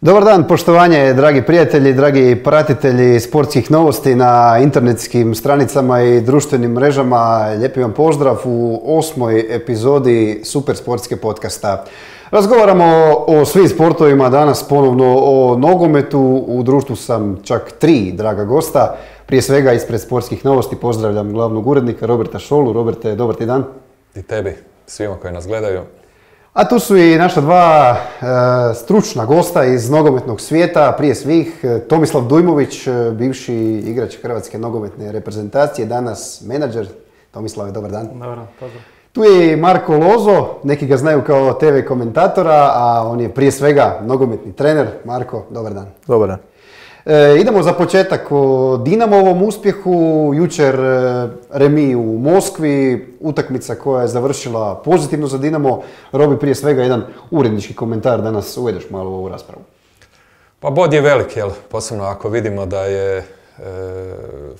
Dobar dan, poštovanje, dragi prijatelji, dragi pratitelji sportskih novosti na internetskim stranicama i društvenim mrežama. Lijepi vam pozdrav u 8. epizodi Super sportske podcasta. Razgovaramo o svim sportovima, danas ponovno o nogometu. U društvu sam čak 3 draga gosta. Prije svega ispred sportskih novosti pozdravljam glavnog urednika Roberta Šolu. Roberte, dobar ti dan. I tebi, svima koji nas gledaju. A tu su i naša dva stručna gosta iz nogometnog svijeta, prije svih Tomislav Dujmović, bivši igrač Hrvatske nogometne reprezentacije, danas menadžer. Tomislav, dobar dan. Dobar dan, pozdrav. Tu je i Marko Lozo, neki ga znaju kao TV komentatora, a on je prije svega nogometni trener. Marko, dobar dan. Dobar dan. Idemo za početak o Dinamovom uspjehu. Jučer remi u Moskvi, utakmica koja je završila pozitivno za Dinamo. Robi, prije svega jedan urednički komentar, da nas uvedeš malo u ovu raspravu. Pa bod je velik, jel? Posebno ako vidimo da je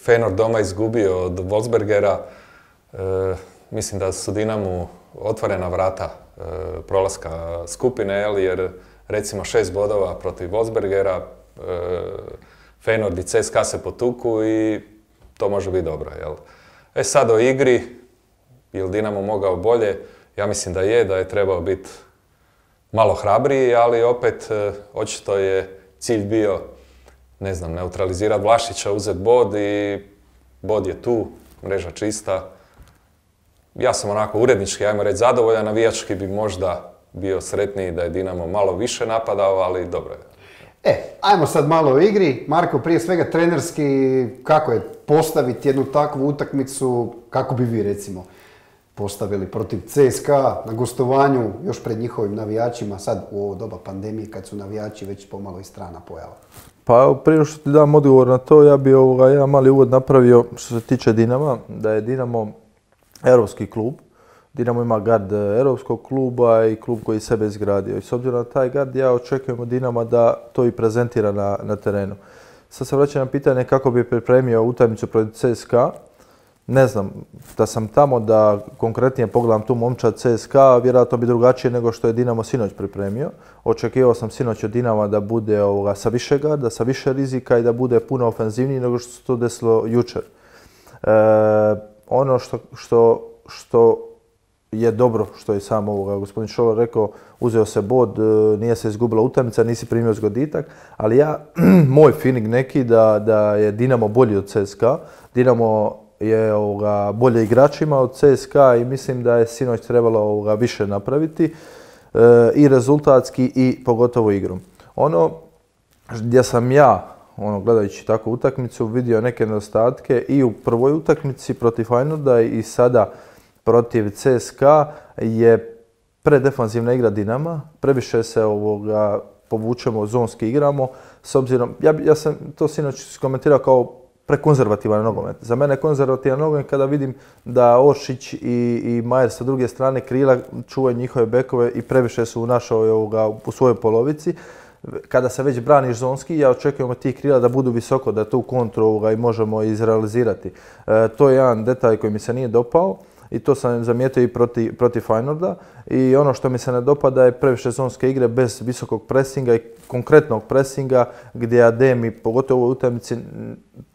Feyenoord doma izgubio od Wolfsbergera. Mislim da su Dinamu otvorena vrata prolaska skupine, jel? Jer recimo 6 bodova protiv Wolfsbergera, Feyenoord i CSKA se potuku i to može biti dobro, jel? Sad o igri, je li Dinamo mogao bolje? Ja mislim da je trebao biti malo hrabriji, ali opet očito je cilj bio, ne znam, neutralizirati Vlašića, uzeti bod i bod je tu, mreža čista. Ja sam onako urednički, ajmo reći, zadovoljan, navijački bi možda bio sretniji da je Dinamo malo više napadao, ali dobro je. Ajmo sad malo o igri. Marko, prije svega trenerski, kako je postaviti jednu takvu utakmicu, kako bi vi recimo postavili protiv CSKA na gostovanju, još pred njihovim navijačima, sad u ovo doba pandemije kad su navijači već pomalo i strana pojava? Pa prije što ti dam odgovor na to, ja bi jedan mali uvod napravio što se tiče Dinama, da je Dinamo europski klub. Dinamo ima gard europskog kluba i klub koji sebe izgradio. I s obzirom na taj gard ja očekujem od Dinama da to i prezentira na terenu. Sad se vraćam na pitanje kako bi pripremio utakmicu protiv CSKA. Ne znam, da sam tamo da konkretnije pogledam tu momčad CSKA, vjerojatno bi drugačije nego što je Dinamo sinoć pripremio. Očekivao sam sinoć od Dinama da bude sa više garda, sa više rizika i da bude puno ofenzivniji nego što se to desilo jučer. Ono što je dobro, što je sam gospodin Šolo rekao, uzeo se bod, nije se izgubila utakmica, nisi primio zgoditak, ali moj feeling neki da je Dinamo bolji od CSKA. Dinamo je bolje igračima od CSKA i mislim da je sinoć trebalo više napraviti i rezultatski i pogotovo igrom. Ono gdje sam ja, gledajući takvu utakmicu, vidio neke nedostatke i u prvoj utakmici protiv Feyenoorda i sada protiv CSKA je predefanzivna igra Dinama, previše se povučemo, zonski igramo, s obzirom, ja sam to sinoć komentirao kao prekonzervativan nogomet. Za mene je konzervativan nogomet kada vidim da Oršić i Majer sa druge strane krila čuvaju njihove bekove i previše su u svojoj polovici. Kada se već braniš zonski, ja očekujem od tih krila da budu visoko, da tu kontru i možemo izrealizirati. To je jedan detalj koji mi se nije dopao. I to sam zamijetio i protiv Feyenoorda. I ono što mi se ne dopada je previše zonske igre bez visokog presinga i konkretnog presinga gdje Ademi, pogotovo u ovoj utakmici,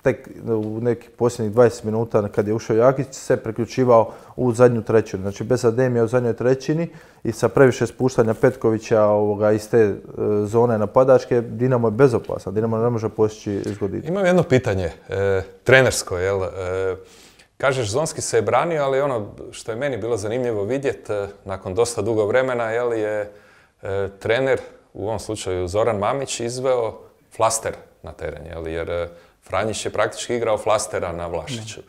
tek u nekih posljednjih 20 minuta kad je ušao Jakić, se priključivao u zadnju trećinu. Znači bez Ademija u zadnjoj trećini i sa previše spuštanja Petkovića iz te zone napadačke, Dinamo je bezopasan. Dinamo ne može postići zgoditak. Imam jedno pitanje, trenersko, jel? Kažeš, zonski se je branio, ali ono što je meni bilo zanimljivo vidjeti, nakon dosta dugo vremena, je trener, u ovom slučaju Zoran Mamić, izveo flaster na teren, jer Franjić je praktički igrao flastera na Vlašiću.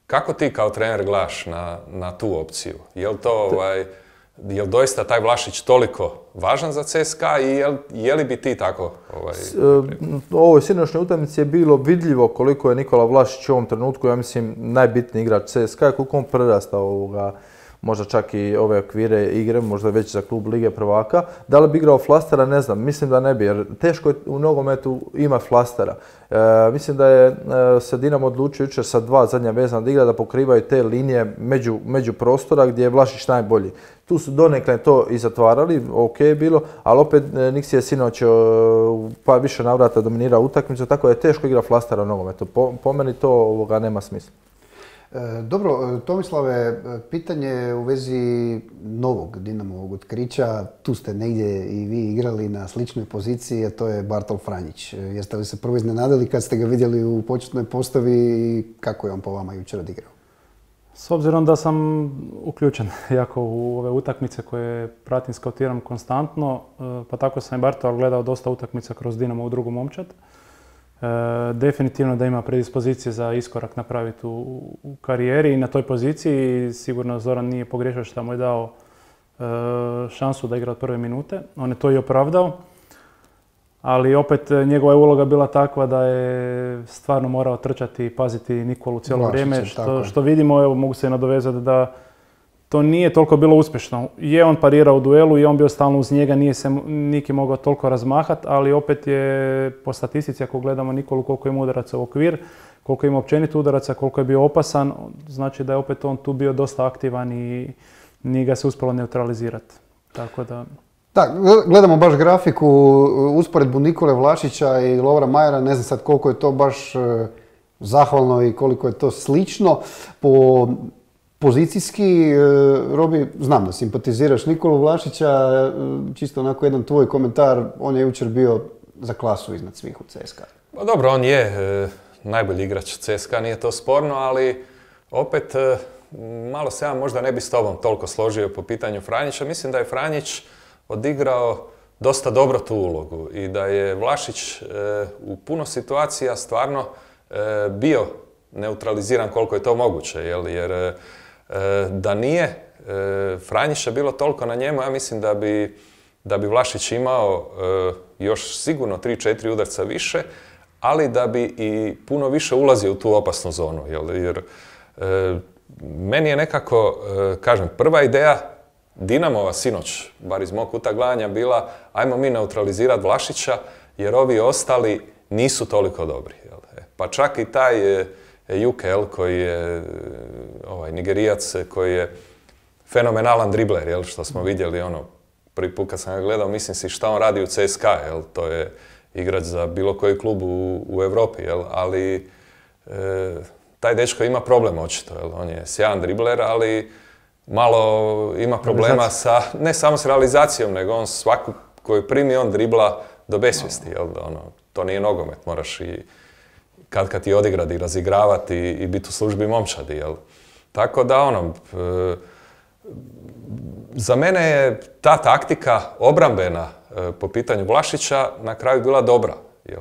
Kako ti kao trener gledaš na tu opciju? Je li doista taj Vlašić toliko važan za CSKA i je li bi ti tako? U ovoj sinoćnoj utakmici je bilo vidljivo koliko je Nikola Vlašić u ovom trenutku, ja mislim, najbitniji igrač CSKA, koliko on prerasta možda čak i ove okvire igre, možda već za klub Lige prvaka. Da li bi igrao flastera, ne znam, mislim da ne bi, jer teško je u nogometu ima flastera. Mislim da je se Dinamo odlučio jučer sa 2 zadnja vezana igra da pokrivaju te linije među prostora gdje je Vlašić najbolji. Tu su donekle to i zatvarali, ok je bilo, ali opet Niksi je sinoć pa više navrata dominirao utakmicu, tako da je teško igra flastera u nogometu. Po meni to nema smisla. Dobro, Tomislave, pitanje u vezi novog Dinamovog otkrića. Tu ste negdje i vi igrali na sličnoj poziciji, a to je Bartol Franjić. Jeste li se prvo iznenadili kad ste ga vidjeli u početnoj postavi i kako je on po vama jučer odigrao? S obzirom da sam uključen jako u ove utakmice koje pratim, skautiram konstantno, pa tako sam i Bartola gledao dosta utakmica kroz Dinamo u drugu momčad. Definitivno da ima predispozicije za iskorak napraviti u karijeri i na toj poziciji. Sigurno Zoran nije pogriješio što mu je dao šansu da igra od prve minute. On je to i opravdao. Ali opet njegova je uloga bila takva da je stvarno morao trčati i paziti Nikolu cijelo vrijeme. Što vidimo, evo mogu se nadovezati da to nije toliko bilo uspješno. Je on parirao u duelu i on bio stalno uz njega, nije se Niki mogao toliko razmahati, ali opet je po statistici ako gledamo Nikolu koliko ima udaraca u okvir, koliko ima općenito udaraca, koliko je bio opasan, znači da je opet on tu bio dosta aktivan i nije ga se uspjelo neutralizirati. Tako da... Da, gledamo baš grafiku, usporedbu Nikole Vlašića i Lovra Majera, ne znam sad koliko je to baš zahvalno i koliko je to slično. Po pozicijski, Robi, znam da simpatiziraš Nikolu Vlašića, čisto onako jedan tvoj komentar, on je jučer bio za klasu iznad svih u CSKA. Pa dobro, on je najbolji igrač CSKA, nije to sporno, ali opet malo se ja možda ne bi s tobom toliko složio po pitanju Franjića. Mislim da je Franjić odigrao dosta dobro tu ulogu i da je Vlašić u puno situacija stvarno bio neutraliziran koliko je to moguće, jer da nije Franjića bilo toliko na njemu, ja mislim da bi Vlašić imao još sigurno 3-4 udarca više, ali da bi i puno više ulazio u tu opasnu zonu, jer meni je nekako, kažem, prva ideja Dinamova sinoć, bar iz mog kuta gledanja, bila ajmo mi neutralizirati Vlašića jer ovi ostali nisu toliko dobri. Pa čak i taj Juke, koji je Nigerijac, koji je fenomenalan dribler, što smo vidjeli prvi put kad sam ga gledao, mislim si šta on radi u CSKA, to je igrač za bilo koji klub u Europi, ali taj dečko ima problem očito, on je sjajan dribler, ali malo ima problema sa, ne samo s realizacijom, nego on svaku koju primi on dribla do besvijesti, to nije nogomet, moraš i kad ti odigrati i razigravati i biti u službi momčadi, Tako da za mene je ta taktika obrambena po pitanju Vlašića na kraju bila dobra, jer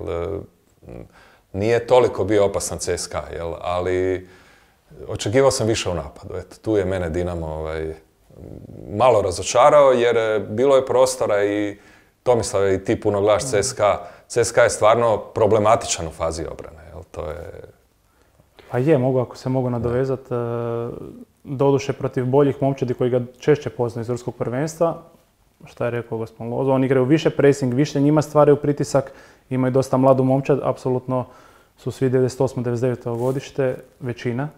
nije toliko bio opasan CSKA, ali očekivao sam više u napadu. Eto, tu je mene Dinamo malo razočarao jer bilo je prostora i Tomislav i ti puno gledaš CSKA. CSKA je stvarno problematičan u fazi obrane. To je... Pa je, ako se mogu nadovezati, doduše protiv boljih momčadi koji ga češće poznaju iz ruskog prvenstva, šta je rekao gospodin Lozo, oni igraju više pressing, više njima stvaraju pritisak, imaju dosta mladu momčad, apsolutno su svi 98-99 godište, većina,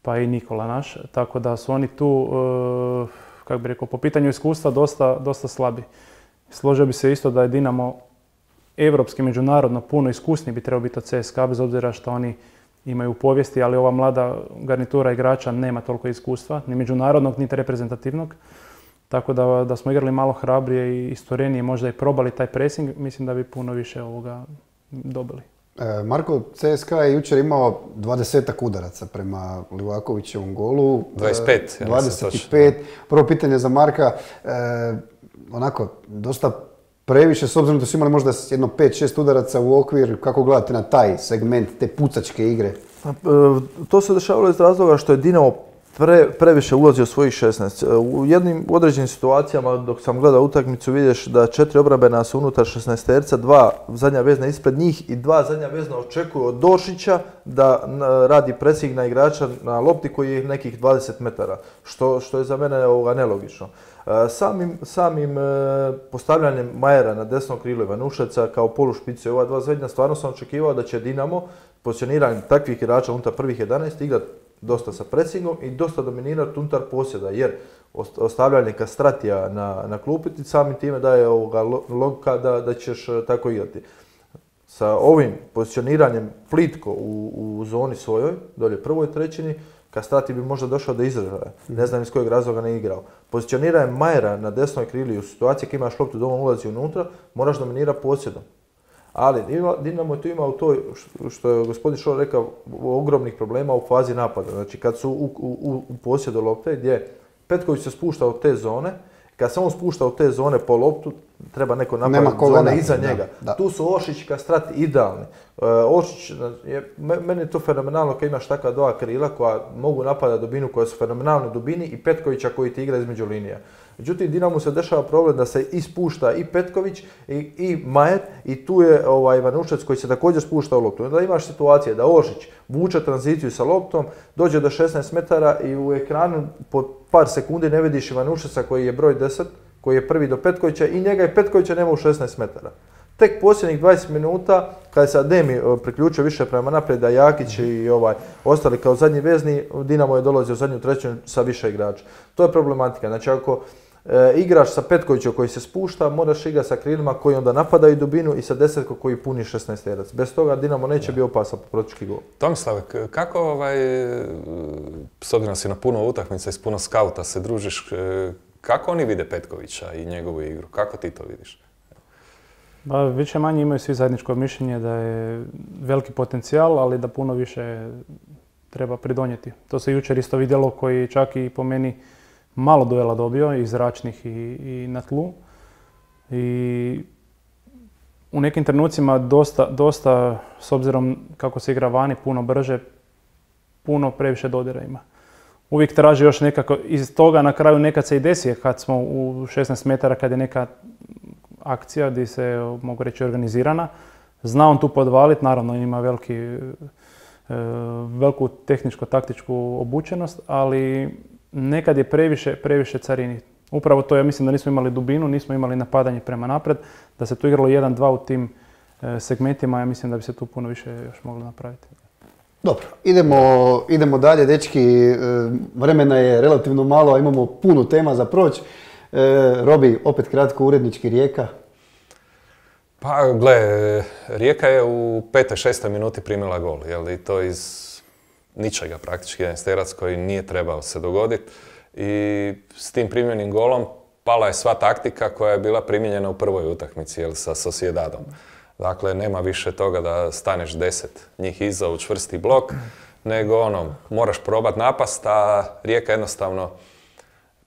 pa i Nikola naš, tako da su oni tu, kako bi rekao, po pitanju iskustva dosta slabi. Složio bi se isto da je Dinamo evropski, međunarodno puno iskusniji bi trebao biti od CSKA, bez obzira što oni imaju u povijesti, ali ova mlada garnitura igrača nema toliko iskustva, ni međunarodnog, niti reprezentativnog. Tako da smo igrali malo hrabrije i istorenije, možda i probali taj pressing, mislim da bi puno više ovoga dobili. Marko, CSKA je jučer imao 20-ak udaraca prema Livakovićevom golu. 25. 25. Prvo pitanje za Marka, onako, dosta previše, s obzirom da su imali možda jedno 5-6 udaraca u okvir, kako gledate na taj segment, te pucačke igre? To se dešavalo iz razloga što je Dinamo previše ulazi u svojih 16. U jednim određenim situacijama dok sam gledao utakmicu vidiš da 4 obrambena su unutar 16-terca, 2 zadnja vezna ispred njih i 2 zadnja vezna očekuju od Došića da radi presing na igrača na lopti koji je nekih 20 metara, što je za mene nelogično. Samim postavljanjem Majera na desno krilo Ivanušeca kao polušpice ova 2 zadnja, stvarno sam očekivao da će Dinamo pozicioniranjem takvih igrača unutar prvih 11 igrati dosta sa presingom i dosta dominirati unutar posjeda, jer ostavljanje Kastratija na klupi ti samim time daje logika da ćeš tako igrati. Sa ovim pozicioniranjem plitko u zoni svojoj, dolje prvoj trećini, Kastrati bi možda došao do izražaja. Ne znam iz kojeg razloga ne igrao. Pozicioniranje Majera na desnoj krili u situaciji kad imaš loptu doma ulazi unutra, moraš dominirati posjedom. Ali Dinamo tu ima u toj, što je gospodin Šor rekao, ogromnih problema u fazi napada. Znači kad su u posjedu lopte gdje Petković se spušta u te zone, kad se on spušta u te zone po loptu, treba neko napraviti zone iza njega. Da. Tu su Ošić i Kastrati idealni. Ošić, meni je to fenomenalno kad imaš takva 2 krila koja mogu napadati dubinu, koja su fenomenalne dubini i Petkovića koji ti igra između linija. Međutim, Dinamu se dešava problem da se ispušta i Petković i Majer i tu je Ivanušec koji se također spušta u loptu. Onda imaš situacije da Ošić vuče tranziciju sa loptom, dođe do 16 metara i u ekranu po par sekundi ne vidiš Ivanušeca koji je broj 10, koji je prvi do Petkovića i njega i Petkovića nema u 16 metara. Tek posljednjih 20 minuta, kada se Ademi priključio više prema naprijed, a Jakić i ostali kao zadnji vezni, Dinamo je dolazio u zadnju trećinu sa više igrača. To je problematika. Znači ako igraš sa Petkovićem koji se spušta, moraš igrati sa krilima koji onda napadaju dubinu i sa desetkom koji puni 16-terac. Bez toga Dinamo neće biti opasan po protički gol. Tomislav, kako s obzirom si na puno utakmica i s puno skauta se družiš, kako oni vide Petkovića i njegovu igru? Kako ti to vidiš? Više manje imaju svi zajedničko mišljenje da je veliki potencijal, ali da puno više treba pridonijeti. To se jučer isto vidjelo, koji čak i po meni malo duela dobio, i zračnih i na tlu. I u nekim trenucima dosta, s obzirom kako se igra vani, puno brže, puno previše dodira ima. Uvijek traži još nekako, iz toga na kraju nekad se i desi, kad smo u 16 metara, kad je neka akcija gdje se, mogu reći, organizirana. Zna on tu podvaliti, naravno ima veliku tehničko-taktičku obučenost, ali nekad je previše carini. Upravo to, ja mislim da nismo imali dubinu, nismo imali napadanje prema napred, da se tu igralo 1-2 u tim segmentima, ja mislim da bi se tu puno više još moglo napraviti. Dobro, idemo dalje, dečki, vremena je relativno malo, a imamo puno tema za proći. Robi, opet kratko, urednički Rijeka. Pa, gle, Rijeka je u 5. 6. minuti primila gol, i to iz ničega praktički, jedan sterac koji nije trebao se dogoditi. I s tim primljenim golom pala je sva taktika koja je bila primijenjena u prvoj utakmici, sa Sociedadom. Dakle, nema više toga da staneš 10 njih iza u čvrsti blok, nego moraš probati napast, a Rijeka jednostavno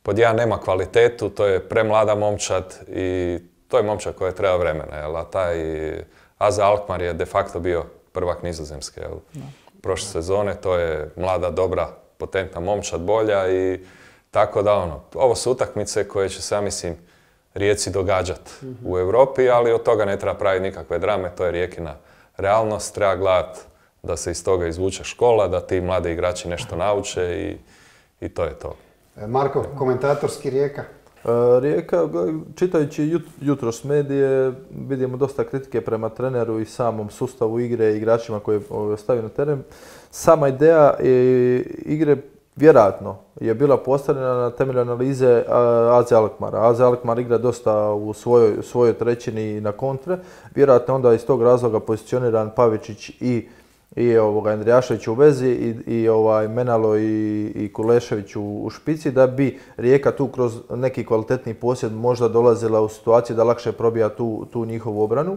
pod jedan nema kvalitetu, to je premlada momčad i to je momčad koja treba vremena, a taj Aza Alkmaar je de facto bio prvak Nizozemske, prošle sezone, to je mlada, dobra, potentna momčad, bolja i tako da ovo su utakmice koje će se, ja mislim, Rijeci događati u Europi, ali od toga ne treba praviti nikakve drame, to je Rijekina realnost, treba gledati da se iz toga izvuče škola, da ti mladi igrači nešto nauče i to je to. Marko, komentatorski Rijeka? Rijeka, čitajući jutros medije, vidimo dosta kritike prema treneru i samom sustavu igre i igračima koje stavio na teren. Sama ideja igre vjerojatno je bila postavljena na temelju analize AZ Alkmaara. AZ Alkmaar igra dosta u svojoj trećini na kontre. Vjerojatno onda iz tog razloga pozicioniran Pavičić i Andrijašević u vezi i Menalo i Kulešević u špici, da bi Rijeka tu kroz neki kvalitetni posjed možda dolazila u situaciju da lakše probija tu njihovu obranu.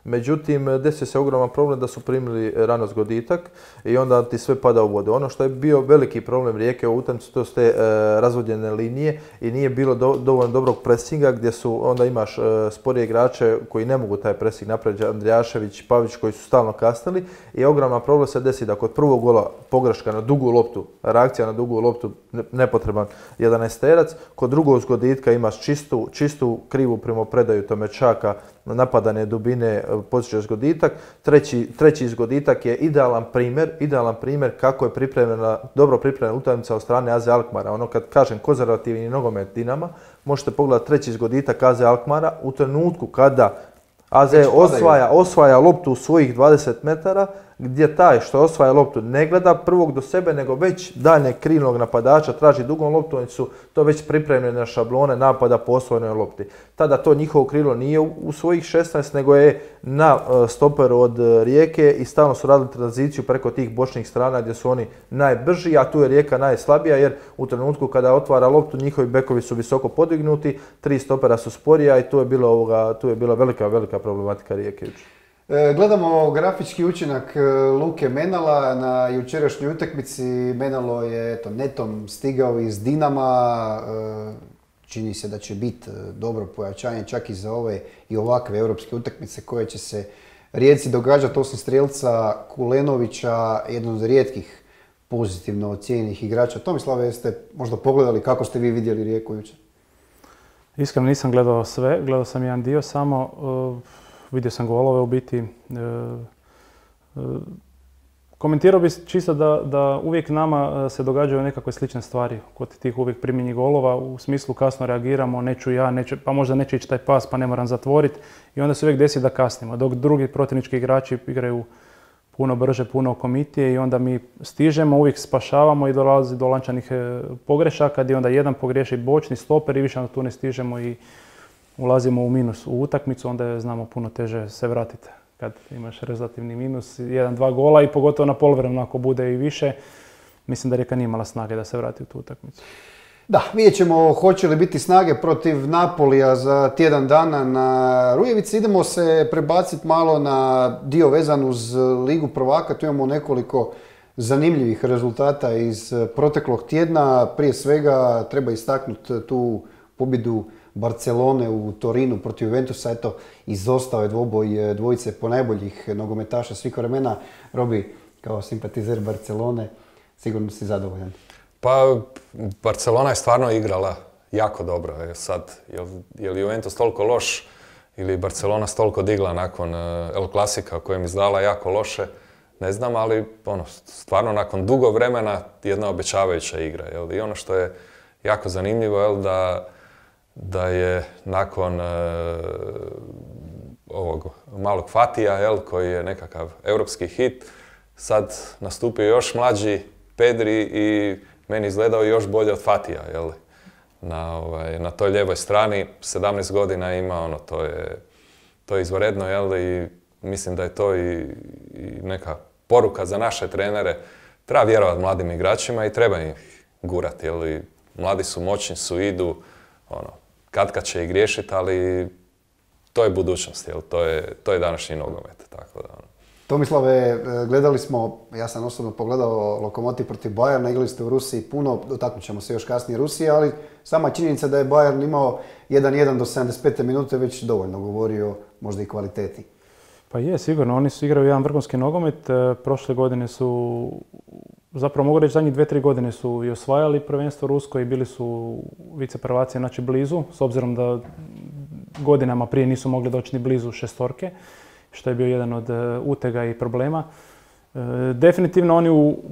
Međutim, desio se ogroman problem da su primili rano zgoditak i onda ti sve pada u vodu. Ono što je bio veliki problem Rijeke u utakmici, to su te razvodnjene linije i nije bilo dovoljno dobrog presinga gdje su, onda imaš sporije igrače koji ne mogu taj presing napraviti, Andrijašević, Pavić koji su stalno kasnili i ogroman problem se desi da kod prvog gola pogreška na dugu loptu, reakcija na dugu loptu, nepotreban 11-terac, kod drugog zgoditka imaš čistu krivu primopredaju Tomečaka, napadane dubine, postiže zgoditak. Treći zgoditak je idealan primjer kako je dobro pripremljena utakmica od strane AZ Alkmaara. Ono kad kažem konzervativni nogomet Dinama, možete pogledati treći zgoditak AZ Alkmaara u trenutku kada AZ osvaja loptu u svojih 20 metara, gdje taj što osvaja loptu ne gleda prvog do sebe, nego već daljnjeg krilnog napadača traži dugom loptu, oni su to već pripremljene šablone napada po osvojenoj lopti. Tada to njihovo krilo nije u svojih 16, nego je na stoperu od Rijeke i stalno su radili tranziciju preko tih bočnih strana gdje su oni najbrži, a tu je Rijeka najslabija jer u trenutku kada otvara loptu njihovi bekovi su visoko podignuti, 3 stopera su sporija i tu je bila velika problematika Rijeke. Gledamo grafički učinak Luke Menala na jučerašnjoj utakmici. Menalo je netom stigao iz Dinama. Čini se da će biti dobro pojačanje čak i za ove i ovakve europske utakmice koje će se Rijeci događati osim strijelca Kulenovića, jednog od rijetkih pozitivno ocijenjenih igrača. Tomislave, jeste možda pogledali kako ste vi vidjeli Rijeku jučer? Iskreno nisam gledao sve, gledao sam jedan dio samo. Vidio sam golove u biti. Komentirao bih čisto da uvijek nama se događaju nekakve slične stvari kod tih uvijek primljenih golova. U smislu kasno reagiramo, neću ja, pa možda neće ići taj pas pa ne moram zatvoriti. I onda se uvijek desi da kasnimo. Dok drugi protivnički igrači igraju puno brže, puno okomitije i onda mi stižemo, uvijek spašavamo i dolazi do lančanih pogrešaka gdje onda jedan pogriješi bočni stoper i više onda tu ne stižemo i ulazimo u minus u utakmicu, onda je znamo puno teže se vratiti kad imaš relativni minus, 1-2 gola i pogotovo na poluvremenu ako bude i više. Mislim da Rijeka nije imala snage da se vrati u tu utakmicu. Da, vidjet ćemo hoće li biti snage protiv Napolija za tjedan dana na Rujevici. Idemo se prebaciti malo na dio vezan uz Ligu prvaka. Tu imamo nekoliko zanimljivih rezultata iz proteklog tjedna. Prije svega treba istaknuti tu pobjedu Barcelone u Torinu protiv Juventusa. Eto, izostao je dvoboj dvojice ponajboljih nogometaša svih vremena. Robi, kao simpatizer Barcelone, sigurno si zadovoljan. Pa, Barcelona je stvarno igrala jako dobro. Sad, je li Juventus toliko loš ili Barcelona toliko digla nakon El Klasika kojem izdala jako loše, ne znam, ali stvarno nakon dugo vremena jedna obećavajuća igra. I ono što je jako zanimljivo, da je nakon ovog malog Fatija, koji je nekakav europski hit, sad nastupio još mlađi Pedri i meni izgledao još bolje od Fatija. Na toj lijevoj strani 17 godina ima, to je izvanredno, i mislim da je to i neka poruka za naše trenere. Treba vjerovati mladim igračima i treba ih gurati. Mladi su, moćni su, idu, kad će i griješiti, ali to je budućnost, to je današnji nogomet. Tako da, Tomislave, gledali smo, ja sam osobno pogledao Lokomotiv protiv Bayerna, igrali ste u Rusiji puno, dotaknut ćemo se još kasnije Rusije, ali sama činjenica da je Bayern imao 1-1 do 75. minute već dovoljno govorio možda i kvaliteti. Pa je, sigurno, oni su igrali jedan vrhunski nogomet, prošle godine su, zapravo mogu reći zadnjih 2-3 godine su i osvajali prvenstvo rusko i bili su viceprvaci, znači blizu, s obzirom da godinama prije nisu mogli doći ni blizu šestorke, što je bio jedan od utega i problema. Definitivno oni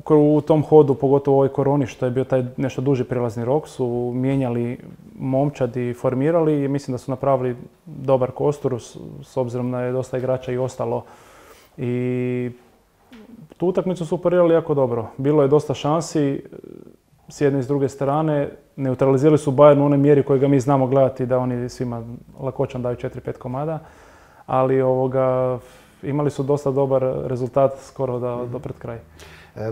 u tom hodu, pogotovo u ovoj koroni, što je bio taj nešto duži prelazni rok, su mijenjali momčad i formirali i mislim da su napravili dobar kostur, s obzirom da je dosta igrača i ostalo. I tu utakmicu su parirali jako dobro. Bilo je dosta šansi s jedne i s druge strane. Neutralizirali su Bayern u onoj mjeri koju ga mi znamo gledati, da oni svima lakoćom daju 4-5 komada. Ali imali su dosta dobar rezultat skoro do pred kraj.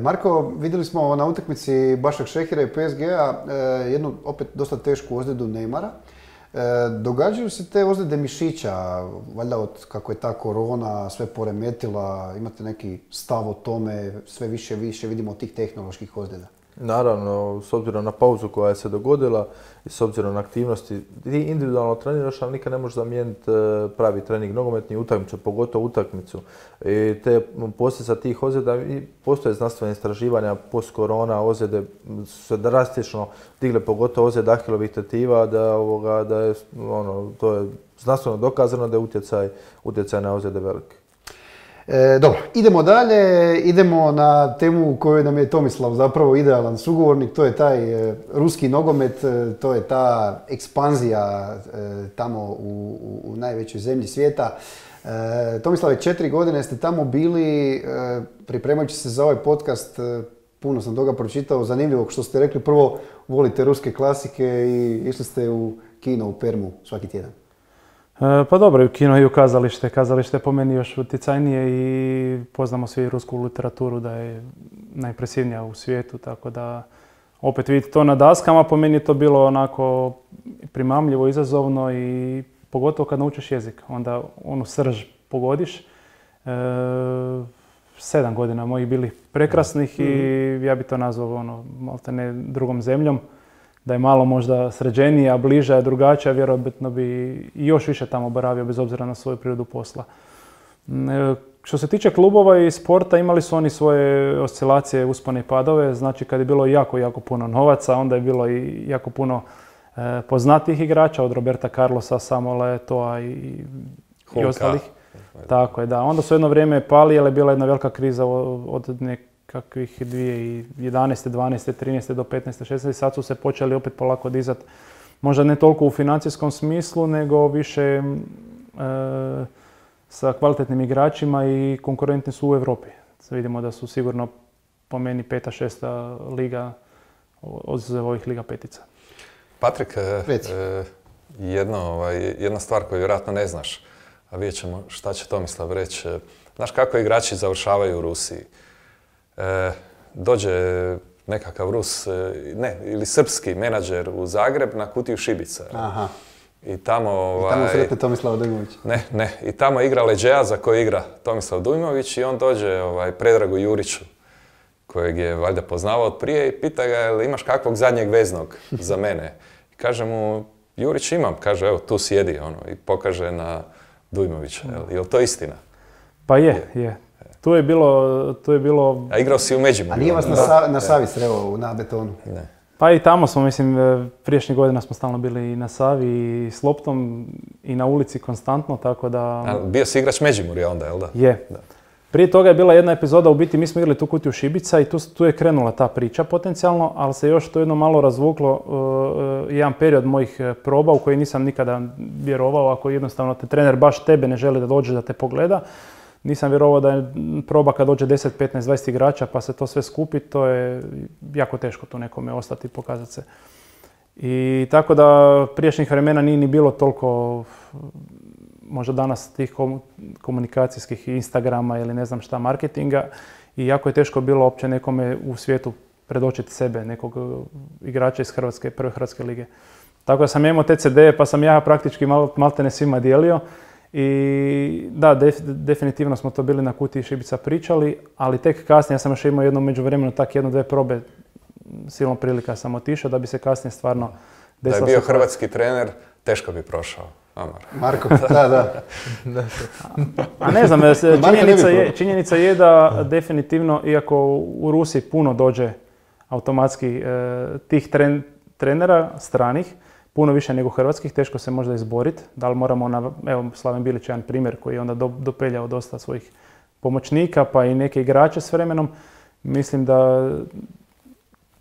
Marko, vidjeli smo na utakmici Başakšehira i PSG-a jednu opet dosta tešku ozljedu Neymara. Događaju se te ozljede mišića, valjda od kako je ta korona sve poremetila, imate neki stav o tome, sve više vidimo tih tehnoloških ozljeda? Naravno, s obzirom na pauzu koja je se dogodila i s obzirom na aktivnosti, ti individualno treniraš, ali nikad ne možeš zamijeniti pravi trening nogometni utakmicu, pogotovo utakmicu. I te posljedica tih ozljeda, i postoje znanstvene istraživanja, post-korona ozljede su se drastično digle, pogotovo ozljede ahilovih tetiva, da je, to je znanstveno dokazano da je utjecaj na ozljede velike. Dobro, idemo dalje, idemo na temu u kojoj nam je Tomislav zapravo idealan sugovornik, to je taj ruski nogomet, to je ta ekspanzija tamo u najvećoj zemlji svijeta. Tomislave, 4 godine ste tamo bili, pripremajući se za ovaj podcast, puno sam toga pročitao, zanimljivog što ste rekli, prvo volite ruske klasike i išli ste u kino u Permu svaki tjedan. Pa dobro, i u kino i u kazalište. Kazalište je po meni još utjecajnije i poznamo svi rusku literaturu da je najimpresivnija u svijetu, tako da opet vidite to na daskama, po meni je to bilo onako primamljivo, izazovno i pogotovo kad naučiš jezik, onda onu srž pogodiš. 7 godina mojih bili prekrasnih i ja bi to nazvao maltene drugom zemljom. Da je malo možda sređenija, bliža, drugačija, vjerojatno bi i još više tamo boravio bez obzira na svoju prirodu posla. Što se tiče klubova i sporta, imali su oni svoje oscilacije, uspone i padove. Znači kad je bilo jako puno novaca, onda je bilo i jako puno poznatijih igrača, od Roberta Carlosa, Samuela Eto'a i ostalih. Tako je, da. Onda su jedno vrijeme pali, ali je bila jedna velika kriza od kakvih 2011. 12. 13. do 15. 16. Sad su se počeli opet polako dizati. Možda ne toliko u financijskom smislu, nego više sa kvalitetnim igračima i konkurentni su u Europi. Vidimo da su sigurno po meni 5. 6. liga od ovih liga petica. Patrik, jedna stvar koju vjerojatno ne znaš, a vidjet ćemo šta će Tomislav reći. Znaš kako igrači završavaju u Rusiji? Dođe nekakav Rus, ili srpski menadžer u Zagreb na kutiju šibica. Aha. I tamo sretne Tomislava Dujmović. Ne. I tamo igra leđeja za koji igra Tomislav Dujmović i on dođe Predragu Juriću, kojeg je valjda poznavao od prije i pita ga jel imaš kakvog zadnjeg veznog za mene. I kaže mu, Jurić imam, kaže evo tu sjedi i pokaže na Dujmovića. Jel to istina? Pa je. Tu je bilo... A igrao si u Međimurju. A nije vas na Savi sreo na betonu? Ne. Pa i tamo smo, prijašnjih godina smo stalno bili i na Savi i s loptom i na ulici konstantno, tako da... A bio si igrač Međimurja onda, jel da? Je. Da. Prije toga je bila jedna epizoda, u biti mi smo igrali tu kutiju šibica i tu je krenula ta priča potencijalno, ali se još to jedno malo razvuklo jedan period mojih proba u koji nisam nikada vjerovao, ako jednostavno te trener baš tebe ne želi da dođe da te pogleda. Nisam vjerovao da je proba kad dođe 10, 15, 20 igrača pa se to sve skupi, to je jako teško tu nekome ostati i pokazati se. I tako da prijašnjih vremena nije ni bilo toliko, možda danas tih komunikacijskih Instagrama ili ne znam šta marketinga i jako je teško bilo uopće nekome u svijetu predočiti sebe, nekog igrača iz prve Hrvatske lige. Tako da sam imao te CD-e pa sam ja praktički maltene svima dijelio. I da, definitivno smo to bili na kutiji šibica pričali, ali tek kasnije, ja sam još imao jedno međuvremenu tak 1-2 probe, silom prilika sam otišao da bi se kasnije stvarno desilo. Da je bio hrvatski trener, teško bi prošao. Marko, da. A ne znam, činjenica je da definitivno, iako u Rusiji puno dođe automatski tih trenera stranih, puno više nego hrvatskih, teško se možda izboriti. Da li moramo, evo Slaven Bilić je jedan primjer koji je onda dopeljao dosta svojih pomoćnika, pa i neke igrače s vremenom. Mislim da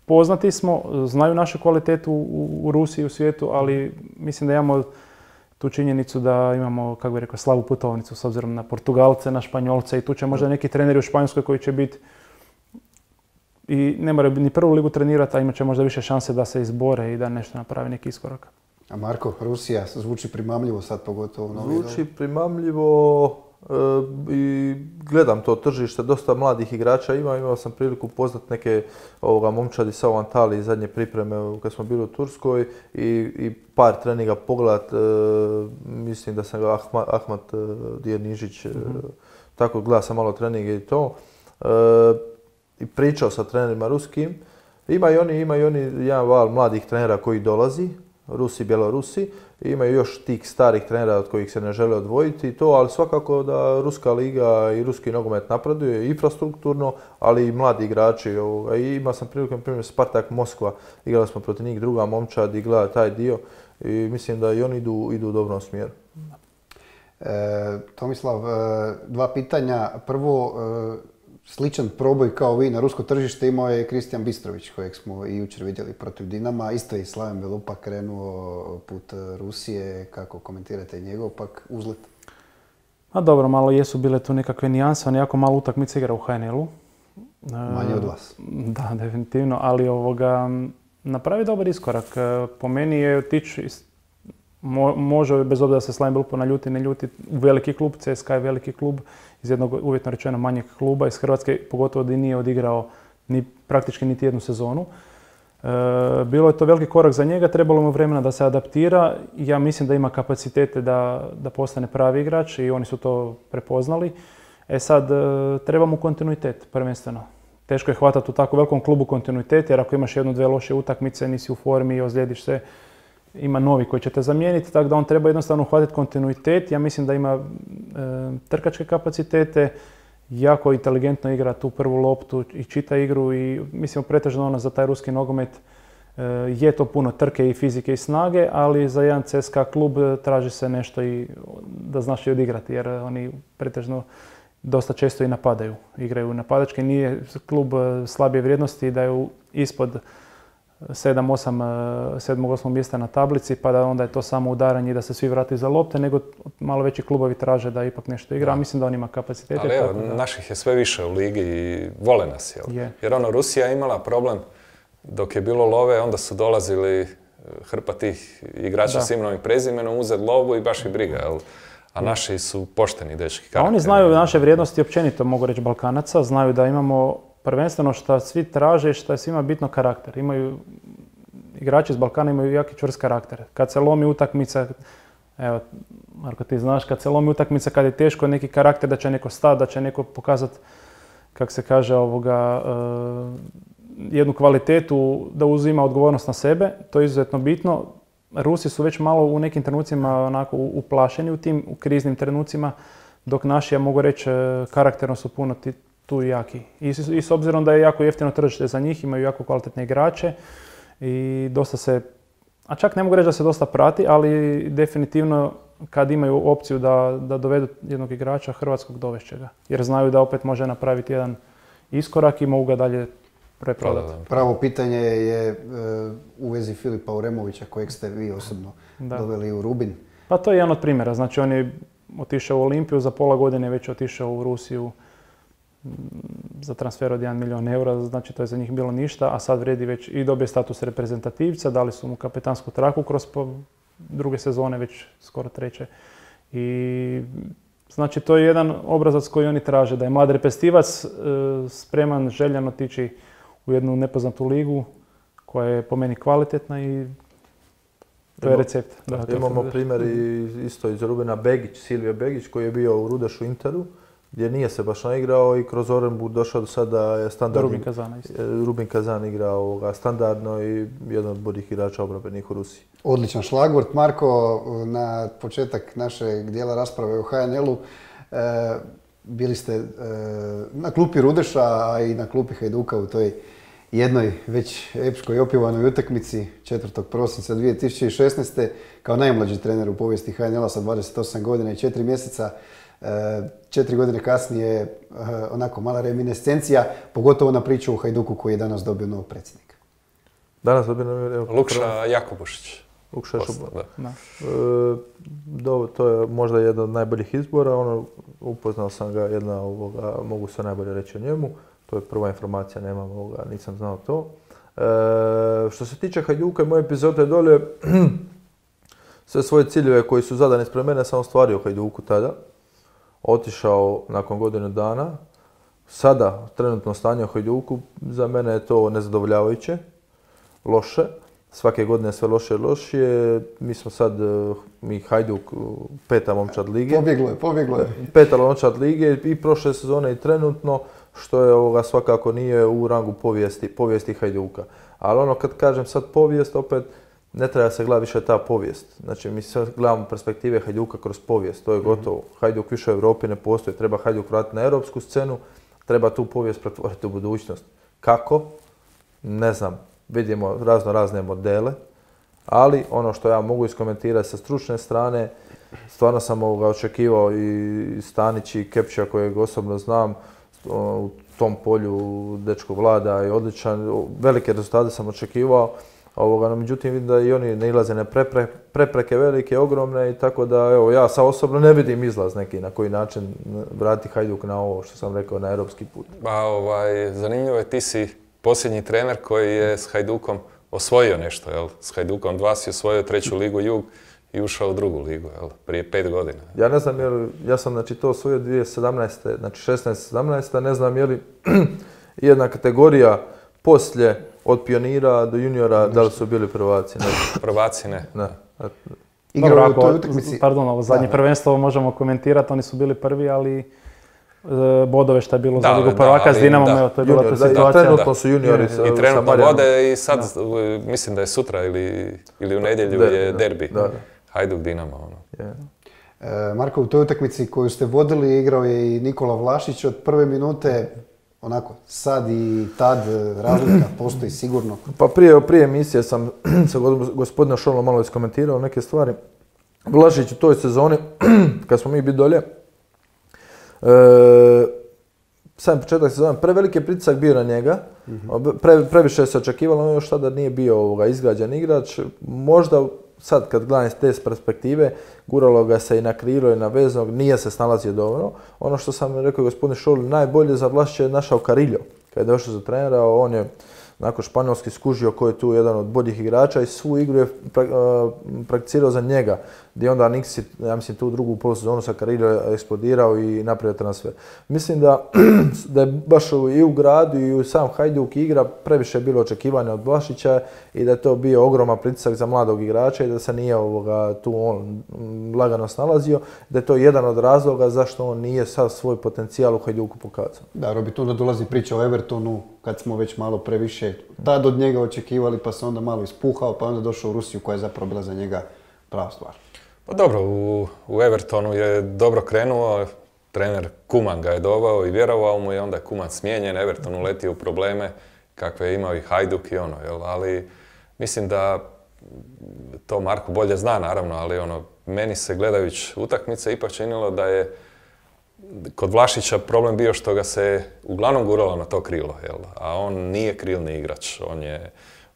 poznati smo, znaju našu kvalitetu u Rusiji i u svijetu, ali mislim da imamo tu činjenicu da imamo, kako bih rekao, slavu putovnicu s obzirom na Portugalce, na Španjolce i tu će možda neki treneri u Španjolskoj koji će biti i ne moraju ni prvu ligu trenirati, a imat će možda više šanse da se izbore i da nešto napravi neki iskorak. A Marko, Rusija zvuči primamljivo sad pogotovo u novi. Zvuči primamljivo, i gledam to tržište, dosta mladih igrača imao sam priliku upoznat neke momčadi sa u Antaliji zadnje pripreme kad smo bili u Turskoj i par treninga pogledat, mislim da sam ga Ahmat Dijenižić, tako gleda sam malo treninge i to. I pričao sa trenerima ruskim. Ima i oni jedan val mladih trenera koji dolazi, Rusi, Bjelorusi. Imaju još tih starih trenera od kojih se ne žele odvojiti i to, ali svakako da Ruska liga i ruski nogomet napreduje infrastrukturno, ali i mladi igrači. I imao sam priliku, na primjer, Spartak Moskva, igrali smo protiv njih, druga momčad i gleda taj dio i mislim da i oni idu u dobrom smjeru. Tomislav, dva pitanja. Prvo, sličan proboj kao vi na rusko tržište imao je Kristijan Bistrović, kojeg smo i jučer vidjeli protiv Dinama. Isto je Slaven Belupa krenuo put Rusije. Kako komentirate njegov pak uzlet? A dobro, malo jesu bile tu nekakve nijanse. On jako malo utakmice igra u HNL-u. Manje od vas. Da, definitivno. Ali napravi dobar iskorak. Po meni je otići, može bez obzira da se Slaven Belupa naljuti, ne ljuti, u veliki klub. CSKA je veliki klub iz jednog uvjetno rečeno manjeg kluba iz Hrvatske, pogotovo da nije odigrao praktički niti jednu sezonu. Bilo je to veliki korak za njega, trebalo mu vremena da se adaptira. Ja mislim da ima kapacitete da postane pravi igrač i oni su to prepoznali. Sad, treba mu kontinuitet prvenstveno. Teško je hvatati u tako velikom klubu kontinuitet, jer ako imaš jednu, dve loše utakmice, nisi u formi, ozlijediš se, ima novi koji će te zamijeniti, tako da on treba jednostavno uhvatiti kontinuitet. Ja mislim da ima trkačke kapacitete, jako inteligentno igra tu prvu loptu i čita igru i mislim pretežno za taj ruski nogomet je to puno trke i fizike i snage, ali za jedan CSKA klub traži se nešto i da znaš i odigrati, jer oni pretežno dosta često i napadaju. Igraju napadački, nije klub slabije vrijednosti da je ispod 7-8 mjesta na tablici, pa da onda je to samo udaranje i da se svi vrati za lopte, nego malo veći klubovi traže da ipak nešto igra, a mislim da on ima kapacitete. Ali evo, naših je sve više u ligi i vole nas, jel? Jer Rusija je imala problem, dok je bilo love, onda su dolazili hrpa tih igrača s imenom i prezimenom, uzeti lovu i baš i briga, jel? A naši su pošteni dečki. A oni znaju naše vrijednosti, općenito mogu reći Balkanaca, znaju da imamo prvenstveno što svi traže, što je svima bitno karakter. Igrači iz Balkana imaju jaki čvrst karakter. Kad se lomi utakmica, evo, Marko ti znaš, kad se lomi utakmica, kad je teško neki karakter da će neko stati, da će neko pokazati, kako se kaže, jednu kvalitetu da uzima odgovornost na sebe, to je izuzetno bitno. Rusi su već malo u nekim trenucima onako uplašeni u kriznim trenucima, dok naši, ja mogu reći, karakterno su puno tu jaki. I s obzirom da je jako jeftino tržište za njih, imaju jako kvalitetne igrače i dosta se, a čak ne mogu reći da se dosta prati, ali definitivno kad imaju opciju da dovedu jednog igrača hrvatskog, dovešće ga. Jer znaju da opet može napraviti jedan iskorak i mogu ga dalje preprodati. Pravo pitanje je u vezi Filipa Uremovića, kojeg ste vi osobno doveli u Rubin. Pa to je jedan od primjera. Znači on je otišao u Olimpiju, za pola godine već otišao u Rusiju za transfer od 1 milijun eura, znači to je za njih bilo ništa, a sad vredi već i dobije status reprezentativca, dali su mu kapetansku traku kroz druge sezone, već skoro treće. I znači to je jedan obrazac koji oni traže, da je mlad reprezentativac spreman, željan otići u jednu nepoznatu ligu koja je po meni kvalitetna i to je recept. Imamo primjer isto iz Rubina Begić, Silvio Begić koji je bio u Rudešu Interu, gdje nije se baš naigrao i kroz Orenburg došao do sada je standardno. Rubin Kazana isto. Rubin Kazan igrao standardno i jedan od boljih igrača obrambenih u Rusiji. Odličan šlagvort. Marko, na početak našeg dijela rasprave o HNL-u bili ste na klupi Rudeša, a i na klupi Hajduka u toj jednoj već epskoj i opjevanoj utakmici 4. prosinca 2016. kao najmlađi trener u povijesti HNL-a sa 28 godina i 4 mjeseca. 4 godine kasnije onako mala reminiscencija, pogotovo na priču o Hajduku koji je danas dobio novog predsjednika. Danas dobio Lukša Jakubušić. Lukša to je možda jedan od najboljih izbora. Upoznao sam ga, mogu se najbolje reći o njemu. To je prva informacija, nisam znao to. Što se tiče Hajduka i moje epizode dolje, sve svoje ciljeve koji su zadani ispred mene sam ostvario u Hajduku tada. otišao nakon godinu dana. Sada, trenutno stanje u Hajduku, za mene je to nezadovoljavajuće, loše. Svake godine sve loše i lošije. Mi smo sad, Hajduk, 5. momčad lige. Pobjeglo je. 5. momčad lige i prošle sezone i trenutno, što je svakako nije u rangu povijesti Hajduka. Ali ono kad kažem sad povijest, opet ne treba se gledati više ta povijest. Znači mi sad gledamo perspektive Hajduka kroz povijest, to je gotovo. Hajduk više u Europi ne postoji, treba Hajduk vratiti na europsku scenu, treba tu povijest pretvoriti u budućnost. Kako? Ne znam. Vidimo razne modele, ali ono što ja mogu iskomentirati sa stručne strane, stvarno sam očekivao i Stanić i Kepća kojeg osobno znam, u tom polju dečko vlada i odličan, velike rezultate sam očekivao, međutim vidim da i oni nailaze na prepreke velike, ogromne i tako da evo ja sa osobno ne vidim izlaz neki na koji način vratiti Hajduk na ovo što sam rekao na europski put. Zanimljivo je, ti si posljednji trener koji je s Hajdukom osvojio nešto, jel? S Hajdukom 2 si osvojio 3. ligu Jug i ušao u 2. ligu, jel? Prije 5 godina. Ja ne znam ja sam to osvojio 2017. Znači 16-17, ne znam je li jedna kategorija poslije od pionira do juniora, da li su bili prvaci? Prvaci ne. Igrao u toj utakmici. Pardon, ovo zadnje prvenstvo možemo komentirati, oni su bili prvi, ali bodove što je bilo za ligu prvaka s Dinamom, evo to je bila ta situacija. Trenutno su juniori i trenutno vode i sad, mislim da je sutra ili u nedjelju je derbi. Hajduk Dinamo. Marko, u toj utakmici koju ste vodili igrao je i Nikola Vlašić od prve minute. Onako, sad i tad razlika postoji sigurno. Pa prije emisije sam sa gospodina Šolom malo iskomentirao neke stvari. Vlašić u toj sezoni, kad smo mi bili dolje, sam početak sezone, preveliki pritisak bio na njega, previše se očekivalo, on još tada nije bio izgrađen igrač. Možda sad kad gledam iz te perspektive, guralo ga se i na krilo i na veznog, nije se snalazio dobro. Ono što sam rekao gospodin Šoli, najbolje za Vlašića je našao Carillo. Kad je došao za trenera, on je nakon španjolski skužio koji je tu jedan od boljih igrača i svu igru je prakticirao za njega. Gdje onda Niksi, ja mislim, tu drugu polusezonu sa Carillo eksplodirao i napravio transfer. Mislim da je baš i u gradu i u sam Hajduk igra previše bilo očekivanja od Vlašića i da je to bio ogroman pritisak za mladog igrača i da se nije tu on lagano snalazio. Da je to jedan od razloga zašto on nije sav svoj potencijal u Hajduku pokazao. Da, Robi, tu dolazi priča o Evertonu, kad smo već malo previše tad od njega očekivali, pa se onda malo ispuhao, pa onda došao u Rusiju koja je zapravo bila za njega prava stvar. Pa dobro, u Evertonu je dobro krenuo, trener Kuman ga je doveo i vjerovao mu i onda je Kuman smijenjen, Everton uletio u probleme kakve je imao i Hajduk i ali mislim da to Marko bolje zna naravno, ali meni se gledajući utakmice ipak činilo da je kod Vlašića problem bio što ga se uglavnom guralo na to krilo, a on nije krilni igrač,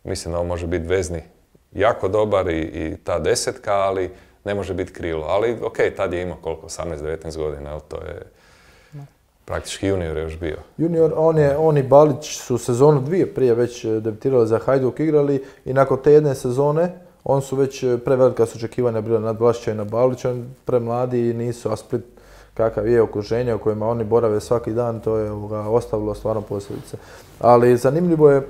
mislim da on može biti vezni jako dobar i ta desetka, ali ne može biti krilo. Ali tad je imao koliko, 18-19 godina, to je praktički junior je još bio. Junior, on i Balić su sezonu 2 prije već debitirali za Hajduk, igrali i nakon te jedne sezone on su već prevelika su očekivanja bila nad Vlašića i na Balića, premladi i nisu, a Split kakav je okruženje u kojima oni borave svaki dan, to je ostavilo stvarno posljedice. Ali zanimljivo je,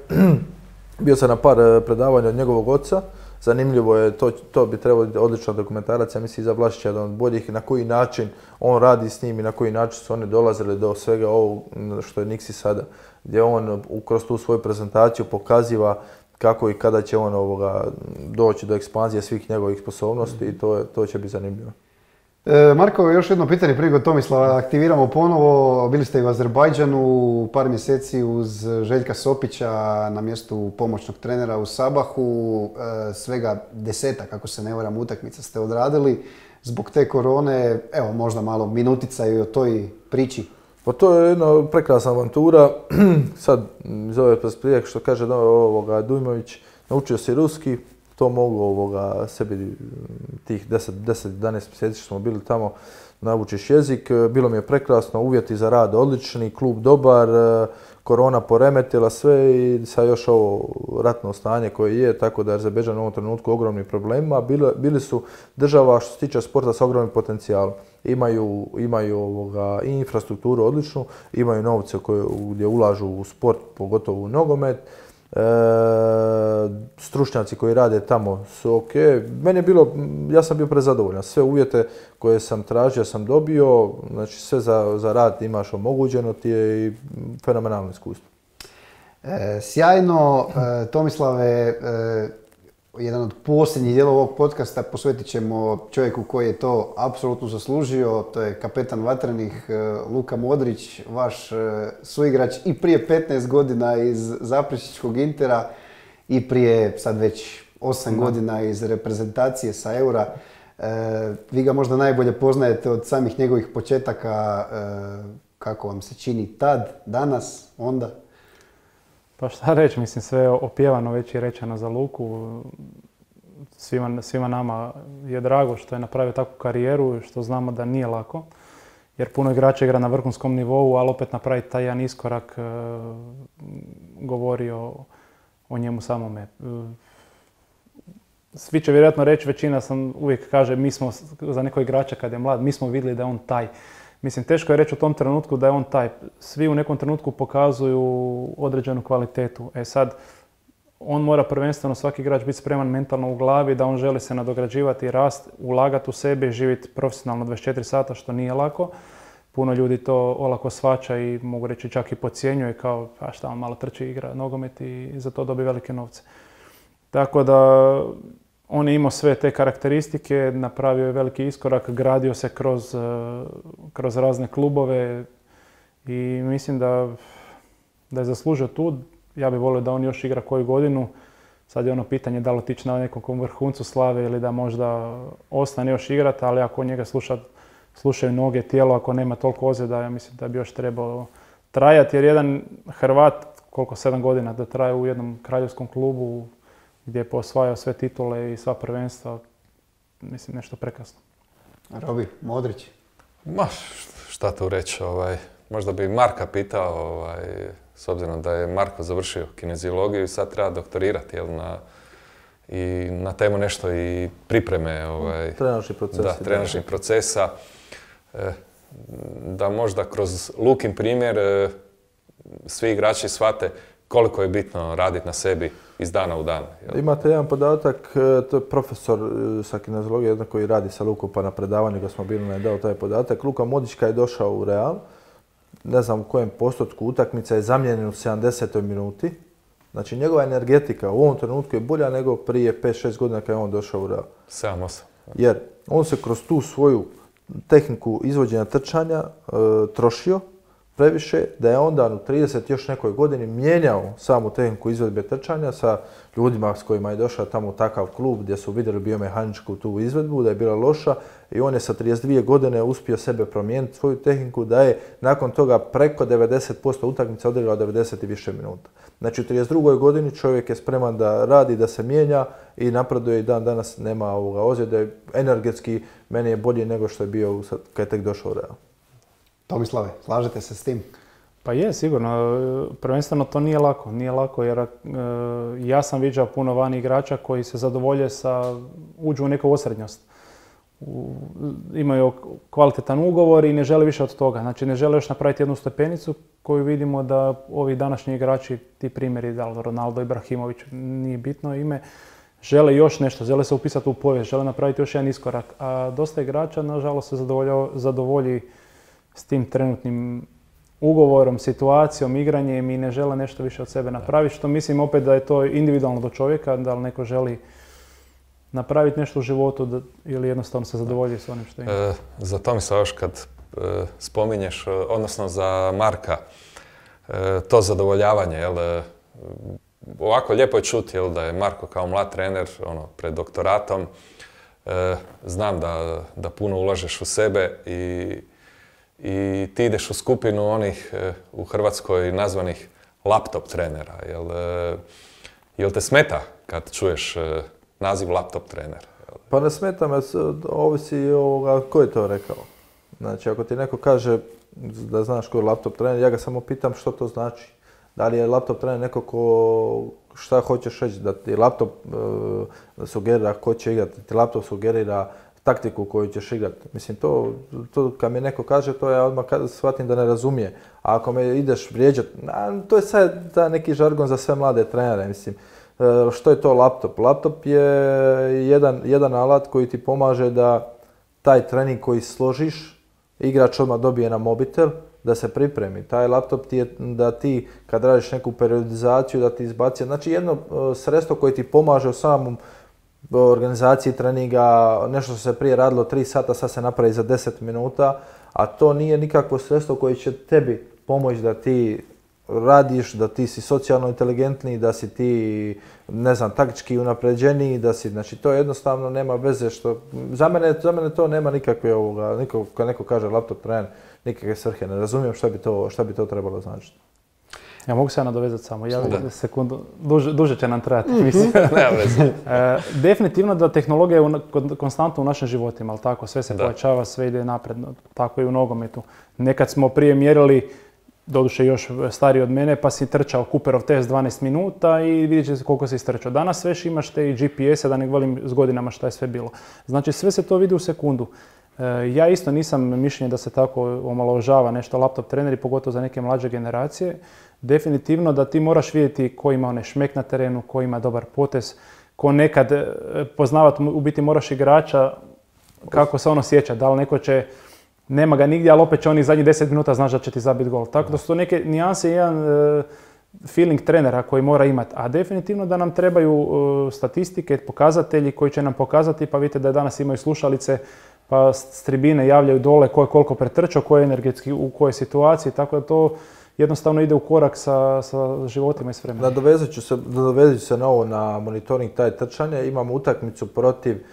bio sam na par predavanja od njegovog oca, zanimljivo je, to bi trebalo biti odlična dokumentaracija, mislim za Vlašića jedan od boljih, na koji način on radi s njim i na koji način su oni dolazili do svega ovog što je Niksi sada, gdje on kroz tu svoju prezentaciju pokaziva kako i kada će on doći do ekspanzije svih njegovih sposobnosti i to će biti zanimljivo. Marko, još jedno pitanje prije kod Tomislava aktiviramo ponovo. Bili ste i u Azerbajdžanu par mjeseci uz Željka Sopića na mjestu pomoćnog trenera u Sabahu. Svega 10, ako se ne varam, utakmica ste odradili. Zbog te korone, evo možda malo minutica i o toj priči. Pa to je jedna prekrasna avantura. Sad, iz ove perspektive što kaže Dujmović, naučio si ruski, to mogu sebi tih 10-11 mjeseci što smo bili tamo, naučiš jezik. Bilo mi je prekrasno, uvjeti za rad odlični, klub dobar, korona poremetila sve i sad još ovo ratno stanje koje je, tako da je Azerbejdžan u ovom trenutku ogromni problema. Bili su država što se tiče sporta sa ogromnim potencijalom. Imaju i infrastrukturu odličnu, imaju novce gdje ulažu u sport, pogotovo u nogomet. Stručnjaci koji rade tamo su ok. Ja sam bio prezadovoljan. Sve uvjete koje sam tražio sam dobio, znači sve za rad imaš omogućeno ti je i fenomenalno iskustvo. Sjajno, Tomislave, jedan od posljednjih dijelova ovog podcasta posvetit ćemo čovjeku koji je to apsolutno zaslužio, to je kapetan Vatrenih Luka Modrić, vaš suigrač i prije 15 godina iz Zaprešićkog Intera i prije sad već 8 godina iz reprezentacije sa Eura. Vi ga možda najbolje poznajete od samih njegovih početaka, kako vam se čini tad, danas, onda? Pa šta reći, mislim sve je opjevano već i rečeno za Luku. Svima nama je drago što je napravio takvu karijeru, što znamo da nije lako. Jer puno igrača igra na vrhunskom nivou, ali opet napraviti taj jedan iskorak govori o njemu samome. Svi će vjerojatno reći, većina sam uvijek kaže, mi smo za nekog igrača kad je mlad, mi smo vidjeli da je on taj. Mislim, teško je reći u tom trenutku da je on taj. Svi u nekom trenutku pokazuju određenu kvalitetu. Sad, on mora prvenstveno svaki igrač biti spreman mentalno u glavi da on želi se nadograđivati, rast, ulagati u sebe i živjeti profesionalno 24 sata, što nije lako. Puno ljudi to olako shvaća i mogu reći čak i podcjenjuje kao a šta on malo trči, igra nogomet i za to dobije velike novce. Tako da on je imao sve te karakteristike, napravio je veliki iskorak, gradio se kroz razne klubove i mislim da je zaslužio tu. Ja bih volio da on još igra koju godinu. Sad je ono pitanje da li otići na nekom vrhuncu slave ili da možda ostane još igrati, ali ako njega slušaju noge, tijelo, ako nema toliko ozljeda, ja mislim da bi još trebao trajati. Jer jedan Hrvat, 7 godina da traje u jednom kraljevskom klubu, gdje je posvajao sve titule i sva prvenstva, mislim nešto prekrasno. Robi, Modrić? Ma, šta tu reći, možda bi Marka pitao, s obzirom da je Marko završio kineziologiju i sad treba doktorirati, i na temu nešto i pripreme. Trenažni procesi. Da, trenažnih procesa. Da možda kroz Lukin primjer svi igrači shvate koliko je bitno raditi na sebi iz dana u dan. Imate jedan podatak, to je profesor sa kineziologije, jedan koji radi sa Lukom, pa na predavanju ga smo bili, dao taj podatak. Luka Modrić kad je došao u Real, ne znam u kojem postotku utakmica je zamijenjen u 70. minuti. Znači njegova energetika u ovom trenutku je bolja nego prije 5-6 godina kad je on došao u Real. 7-8. Jer on se kroz tu svoju tehniku izvođenja trčanja trošio previše, da je onda u 30 još nekoj godini mijenjao samu tehniku izvedbe trčanja sa ljudima s kojima je došao tamo u takav klub gdje su vidjeli biomehaničku tu izvedbu, da je bila loša i on je sa 32 godine uspio sebe promijeniti svoju tehniku, da je nakon toga preko 90% utakmica odigrao 90 i više minuta. Znači u 32. godini čovjek je spreman da radi, da se mijenja i napreduje i dan danas nema ozljede. Energetski meni je bolji nego što je bio kad je tek došao u Real. Tomislave, slažete se s tim? Pa je, sigurno. Prvenstveno to nije lako. Nije lako jer ja sam viđao puno vani igrača koji se zadovolje uđu u neku osrednjost. Imaju kvalitetan ugovor i ne žele više od toga. Znači ne žele još napraviti jednu stepenicu koju vidimo da ovi današnji igrači, ti primjeri, da li Ronaldo, Ibrahimović, nije bitno ime, žele još nešto, žele se upisati u povijest, žele napraviti još jedan iskorak. A dosta igrača, nažalost, se zadovolji s tim trenutnim ugovorom, situacijom, igranjem i ne žele nešto više od sebe napraviti, što mislim opet da je to individualno do čovjeka, da li neko želi napraviti nešto u životu ili jednostavno se zadovolji s onim što ima. Za Tomislava još kad spominješ, odnosno za Marka, to zadovoljavanje, ovako lijepo je čuti da je Marko kao mlad trener pred doktoratom, znam da puno ulažeš u sebe i ti ideš u skupinu onih u Hrvatskoj nazvanih laptop trenera. Jel te smeta kad čuješ naziv laptop trener? Pa ne smeta me, ovisi ko je to rekao. Znači, ako ti neko kaže da znaš ko je laptop trener, ja ga samo pitam što to znači. Da li je laptop trener neko ko, šta hoćeš reći, da ti laptop sugerira ko će igrati, da ti laptop sugerira taktiku koju ćeš igrati. Mislim, to kad mi neko kaže, to ja odmah shvatim da ne razumije. A ako me ideš vrijeđati, to je sad neki žargon za sve mlade trenere, mislim. Što je to laptop? Laptop je jedan alat koji ti pomaže da taj trening koji složiš, igrač odmah dobije na mobitel, da se pripremi. Taj laptop ti je da ti kad radiš neku periodizaciju da ti izbaci. Znači jedno sredstvo koje ti pomaže u samom organizaciji treninga, nešto što se prije radilo 3 sata, sad se napravi za 10 minuta, a to nije nikakvo sredstvo koje će tebi pomoći da ti radiš, da ti si socijalno inteligentniji, da si ti, ne znam, taktički unapređeniji, da si, znači to jednostavno nema veze što, za mene to nema nikakve kad neko kaže laptop trener, nikakve svrhe, ne razumijem šta bi to trebalo značiti. Ja mogu se ja nadovezati samo, sekundu, duže će nam trajati, mislim. Definitivno da tehnologija je konstantno u našim životima, ali tako, sve se pojačava, sve ide napred, tako i u nogometu. Nekad smo prije mjerili, doduše još stariji od mene, pa si trčao Cooperov test 12 minuta i vidjet će se koliko si istrčao. Danas sve imaš te i GPS-e, da ne govorim s godinama šta je sve bilo. Znači sve se to vidi u sekundu. Ja isto nisam mišljenja da se tako omalovažava nešto laptop treneri, pogotovo za neke mlađe generacije. Definitivno da ti moraš vidjeti ko ima onaj šmek na terenu, ko ima dobar potez, ko nekad poznavati, u biti moraš igrača kako se on osjeća, da li neko će, nema ga nigdje, ali opet će onih zadnjih 10 minuta znaš da će ti zabiti gol. Tako da su to neke nijanse i jedan feeling trenera koji mora imati. A definitivno da nam trebaju statistike, pokazatelji koji će nam pokazati, pa vidite da danas imaju slušalice, pa s tribine javljaju dole ko je koliko pretrčao, ko je energetski u kojoj situaciji, tako da to jednostavno ide u korak sa životima i s vremenom. Nadovezat ću se na ovo, na monitoring taj trčanja. Imamo utakmicu protiv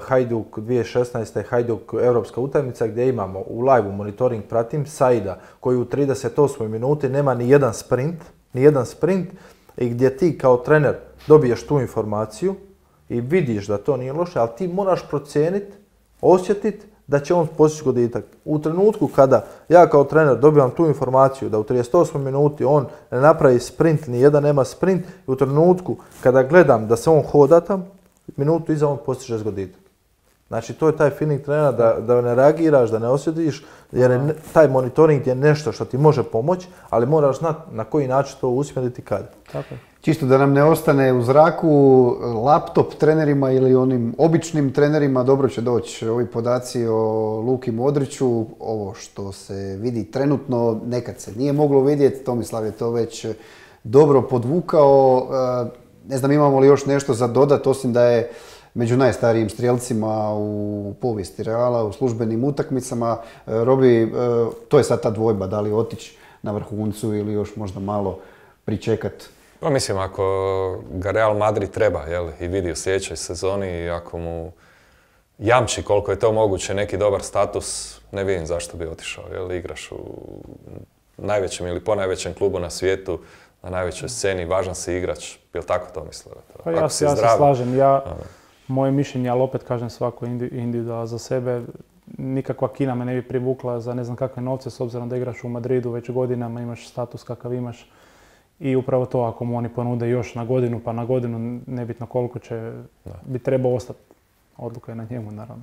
Hajduk 2016. Hajduk europska utakmica gdje imamo u live monitoring pratim Saida koji u 38. minuti nema ni jedan sprint i gdje ti kao trener dobiješ tu informaciju i vidiš da to nije loše, ali ti moraš procijeniti, osjetiti da će on postići goditak. U trenutku kada ja kao trener dobivam tu informaciju da u 38 minuti on ne napravi sprint, ni jedan nema sprint, i u trenutku kada gledam da se on hoda tam, minutu iza on postiže goditak. Znači to je taj feeling trenera da ne reagiraš, da ne osjetiš, jer taj monitoring je nešto što ti može pomoći, ali moraš znati na koji način to usmjeriti kada. Tako je. Čisto da nam ne ostane u zraku, laptop trenerima ili onim običnim trenerima dobro će doći ovi podaci o Luki Modriću. Ovo što se vidi trenutno, nekad se nije moglo vidjeti, Tomislav je to već dobro podvukao. Ne znam imamo li još nešto za dodat, osim da je među najstarijim strijelcima u povijesti Reala, u službenim utakmicama. Robi, to je sad ta dvojba, da li otići na vrhuncu ili još možda malo pričekati. Pa mislim, ako ga Real Madrid treba i vidi u sljedećoj sezoni i ako mu jamči koliko je to moguće neki dobar status, ne vidim zašto bi otišao. Igraš u najvećem ili ponajvećem klubu na svijetu, na najvećoj sceni, važan si igrač. Jel tako to mislio? Pa ja se slažem. Moje mišljenje, ali opet kažem svako individualno za sebe, nikakva Kina me ne bi privukla za ne znam kakve novce, s obzirom da igraš u Madridu već godinama, imaš status kakav imaš. I upravo to, ako mu oni ponude još na godinu, pa na godinu, nebitno koliko će, bi trebao ostati. Odluka je na njemu, naravno.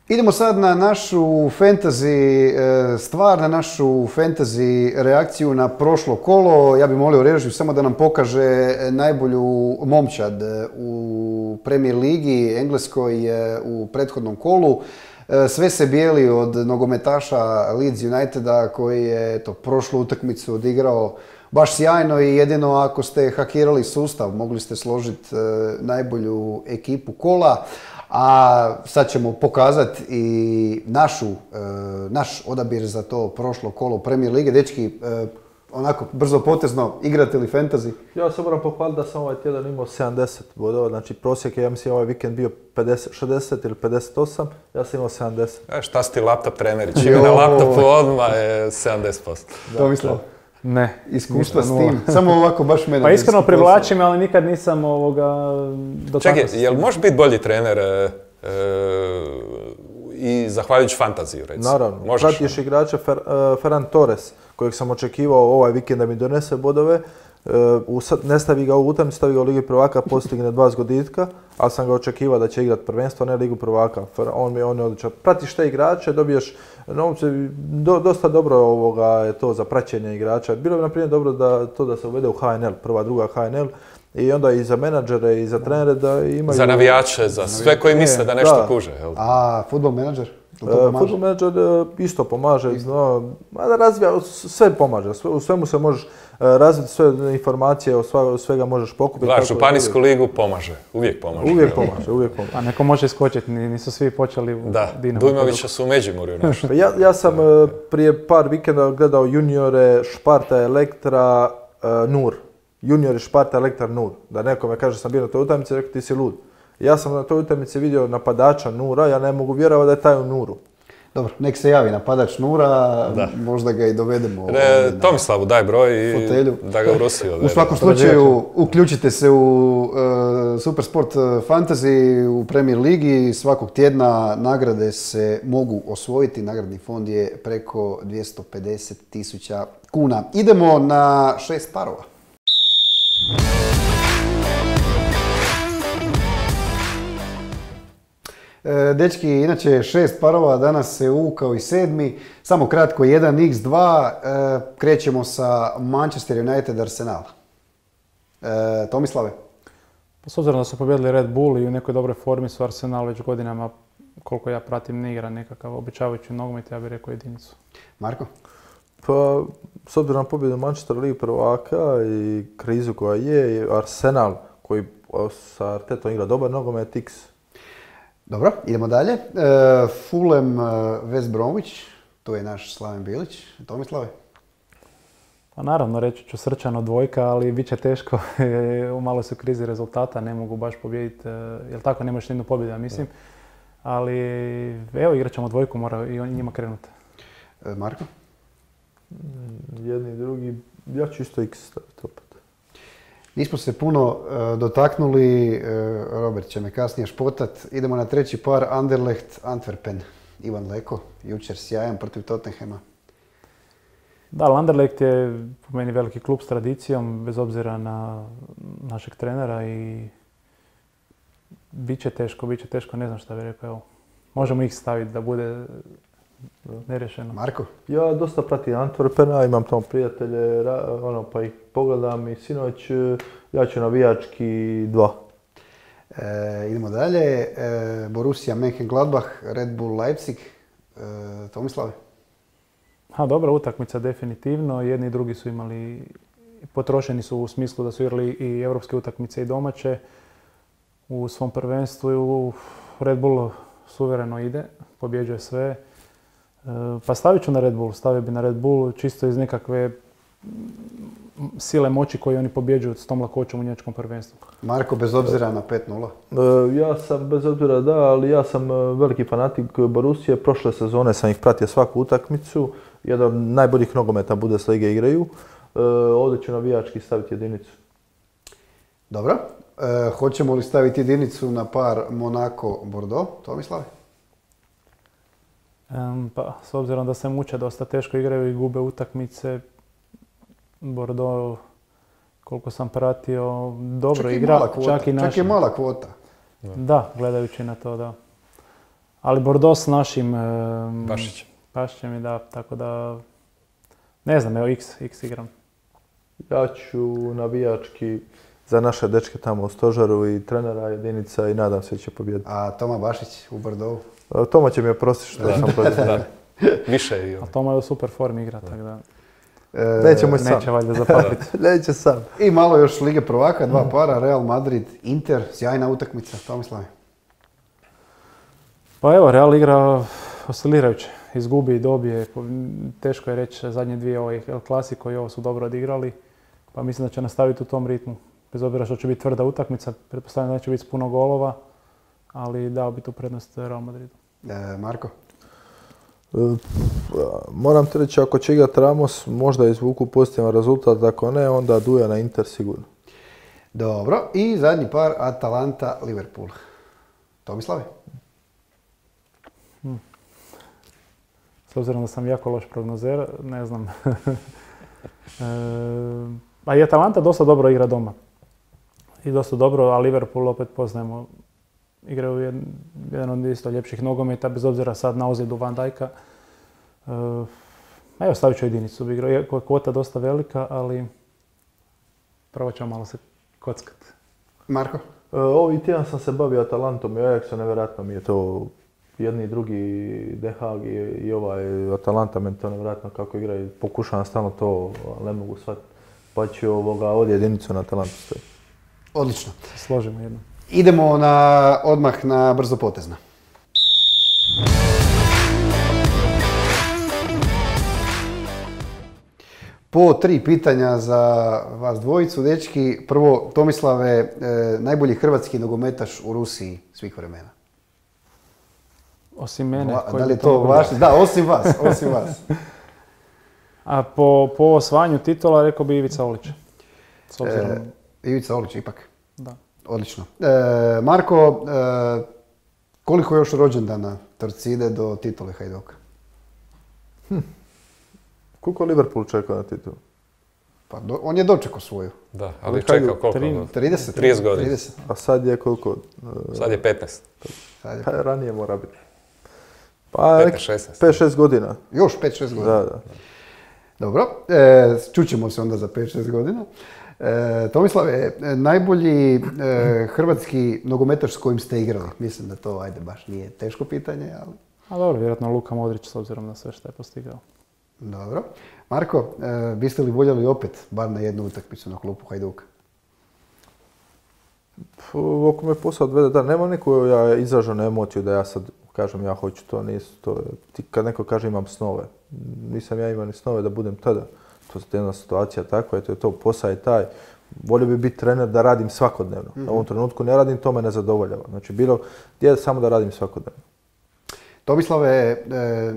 Idemo sad na našu fantasy stvar, na našu fantasy reakciju na prošlo kolo. Ja bih molio režiju samo da nam pokaže najbolju momčad u Premier ligi Engleskoj u prethodnom kolu. Sve se bijeli od nogometaša Leeds Uniteda koji je prošlu utakmicu odigrao baš sjajno i jedino ako ste hakirali sustav mogli ste složiti najbolju ekipu kola. A sad ćemo pokazati i naš odabir za to prošlo kolo Premier lige. Dečki, onako brzo potezno, igrate li fantasy? Ja se moram pohvaliti da sam ovaj tjedan imao 70 bodova, znači prosjek je, ja mislim, ovaj vikend bio 60 ili 58, ja sam imao 70. Šta si ti laptop treneri? Čim je na laptopu odmah je 70%. To mislim. Ne. Iskustva s tim. Samo ovako baš mene... Pa iskreno privlačim, ali nikad nisam dotakao. Čekaj, jel možeš biti bolji trener i zahvaljujući fantaziju, recimo. Naravno, pratiš igrača Ferran Torres, kojeg sam očekivao ovaj vikend da mi donese bodove, ne stavi ga u utakmicu, stavi ga u Ligi prvaka, postigne 2 zgoditka, ali sam ga očekivao da će igrati prvenstvo, ne Ligu prvaka. On je odličan. Pratiš te igrače, dobiješ novce, dosta dobro je to za praćenje igrača. Bilo bi na primjer dobro da se uvede u HNL, prva, druga HNL, i onda i za menadžere i za trenere da imaju... Za navijače, za sve koji misle da nešto kuže. A Football Manager? Football Manager isto pomaže, da razvija, sve pomaže, u svemu se možeš razviti, sve informacije, od svega možeš pokupiti. Gledaj, Županijsku ligu pomaže, uvijek pomaže. Uvijek pomaže. A neko može iskočiti, nisu svi počeli u Dinamo. Dujmovića su u Međimurju našli. Ja sam prije par vikenda gledao juniore Šparta Elektra Nur. Juniori Šparta Elektra Nur. Da nekome kaže sam bio na toj utakmici, rekao ti si lud. Ja sam na toj utakmici vidio napadača Nura, ja ne mogu vjerovati da je taj u Nuru. Dobro, nek se javi napadač Nura, možda ga i dovedemo. Tomislavu daj broj i da ga u Rusiju odvede. U svakom slučaju, uključite se u Supersport Fantasy u Premier Ligi. Svakog tjedna nagrade se mogu osvojiti. Nagradni fond je preko 250.000 kuna. Idemo na 6 parova. Dečki, inače 6 parova, danas se uvukao i 7. Samo kratko 1x2, krećemo sa Manchester United Arsenal. Tomislave? S obzirom da su pobjedili Red Bull i u nekoj dobroj formi su Arsenal već godinama, koliko ja pratim, ne igra nekakav običavajući nogomet, ja bih rekao jedinicu. Marko? Pa, s obzirom na pobjedu Manchester Ligi prvaka i krizu koja je, Arsenal koji sa Artetom igra dobar nogomet, X. Dobro, idemo dalje. Fulham West Bromwich, to je naš Slaven Bilić. Tomislave? Pa naravno, reći ću srčano 2, ali bit će teško. U malo su krizi rezultata, ne mogu baš pobijediti. Jel tako, nemaš nijednu pobjedu, ja mislim. Ali evo, igrat ćemo 2, mora i njima krenuti. Marko? Jedni i drugi, ja ću isto X staviti opet. Nismo se puno dotaknuli, Robert će me kasnije špotat. Idemo na 3. par, Anderlecht Antwerpen. Ivan Leko, jučer sjajan protiv Tottenhama. Da, Anderlecht je po meni veliki klub s tradicijom, bez obzira na našeg trenera i bit će teško, ne znam šta bih rekao. Evo, možemo ih staviti da bude nerešeno. Marko? Ja dosta pratim Antwerpena, imam tamo prijatelje, pa ih pogledam i sinoć, ja ću navijački 2. Idemo dalje, Borussia Mönchengladbach, Red Bull Leipzig. Tomislave? Dobra utakmica definitivno, jedni i drugi su imali, potrošeni su u smislu da su igrali i europske utakmice i domaće u svom prvenstvu. Red Bull suvereno ide, pobjeđuje sve. Pa stavit ću na Red Bull, stavio bi na Red Bull čisto iz nekakve sile moći koje oni pobjeđuju s tom lakoćom u njemačkom prvenstvu. Marko, bez obzira na 5-0? Ja sam bez obzira ali ja sam veliki fanatik Borussije. Prošle sezone sam ih pratio svaku utakmicu. Jedan od najboljih nogometa Bundeslige igraju. Ovdje ću navijački staviti jedinicu. Dobro. Hoćemo li staviti jedinicu na par Monaco-Bordeaux? Tomislav? Pa, s obzirom da se muče, dosta teško igraju i gube utakmice, Bordeaux, koliko sam pratio, dobro igra. Čak je mala kvota. Da, gledajući na to, da. Ali Bordeaux s našim Pašićem je, da, tako da, ne znam, evo X igram. Ja ću navijački za naše dečke tamo u stožaru i trenera jedinica i nadam se da će pobijediti. A Toma Bašić u Bordeaux? Toma će mi oprostiti što sam protiv. Više i on. A Toma je u super formi igra, tako da... Neće valjda zapamtiti. Neće sam. I malo još Lige prvaka, 2 para, Real Madrid, Inter, sjajna utakmica, Tomislav. Pa evo, Real igra oscilirajuće, izgubi i dobije, teško je reći zadnje 2 El Clasico i ovo su dobro odigrali, pa mislim da će nastaviti u tom ritmu. Bez obzira što će biti tvrda utakmica, pretpostavljam da neće biti puno golova, ali dao bi tu prednost Real Madridu. Marko? Moram ti reći, ako će igrat Ramos, možda izvuku pozitivan rezultat, ako ne, onda Duja na Inter sigurno. Dobro, i zadnji par, Atalanta-Liverpool. Tomislave? S obzirom da sam jako loš prognozer, ne znam. A i Atalanta dosta dobro igra doma. I dosta dobro, a Liverpool opet poznajemo. Igraju jedan od isto ljepših nogometa, bez obzira sad na ozljedu Van Dijka. Evo, stavit ću jedinicu u igru. Iako je kvota dosta velika, ali probat ćemo malo se kockat. Marko? Ovih tjedan sam se bavio Atalantom i Ajaxom, nevjerojatno mi je to jedni i drugi Den Haag i ovaj Atalanta, meni to nevjerojatno kako igraju. Pokušavam stalno to, ali ne mogu shvatiti. Pa ću ovdje jedinicu na Atalantu stoji. Odlično. Složimo jedno. Idemo odmah na brzo potezna. Po 3 pitanja za vas dvojicu, dečki. Prvo, Tomislave, najbolji hrvatski nogometaš u Rusiji svih vremena. Osim mene. Da li je to vaš? Da, osim vas. A po osvajanju titula rekao bi Ivica Olić. Ivica Olić, ipak. Da. Odlično. Marko, koliko još rođendana Torcide do titule Hajduka? Koliko Liverpool čeka na titulu? Pa on je dočekao svoju. Da, ali čekao koliko? 30 godina. 30. A sad je koliko? Sad je 15. Ranije mora biti. Pa 5-16 godina. Još 5-6 godina. Da. Dobro, čućemo se onda za 5-6 godina. Tomislave, najbolji hrvatski nogometaš s kojim ste igrali? Mislim da to, baš nije teško pitanje, ali... A dobro, vjerojatno Luka Modrić s obzirom na sve što je postigao. Dobro. Marko, biste li voljeli opet, bar na jednu utakmicu na klupu Hajduka? Oko me posao odvede, da, nema neku izraženu emociju da ja sad kažem ja hoću to, nisu to. Kad neko kaže imam snove, nisam ja imao ni snove da budem tada. To je jedna situacija takva, eto je to, posao je taj. Volio bi biti trener da radim svakodnevno. U ovom trenutku ne radim, to me ne zadovoljava. Znači bilo gdje samo da radim svakodnevno. Tomislave,